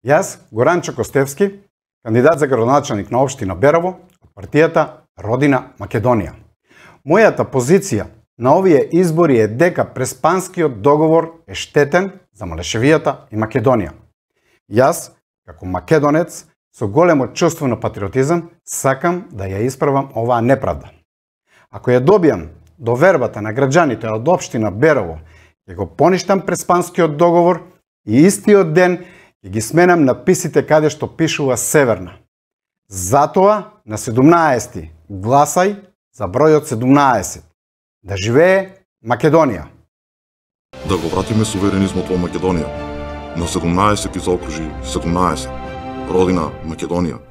Јас, Горанчо Костевски, кандидат за градоначалник на општина Берово, од партијата Родина Македонија. Мојата позиција на овие избори е дека преспанскиот договор е штетен за Малешевијата и Македонија. Јас, како македонец, со големо чувство на патриотизам, сакам да ја исправам оваа неправда. Ако ја добијам довербата на граѓаните од општина Берово, ќе го поништам преспанскиот договор и истиот ден ќе ги сменам написите каде што пишува Северна. Затоа на 17 гласај за бројот 17. Да живее Македонија! Да го вратиме суверенизмот во Македонија. На 17 ги заокружи 17. Родина Македонија.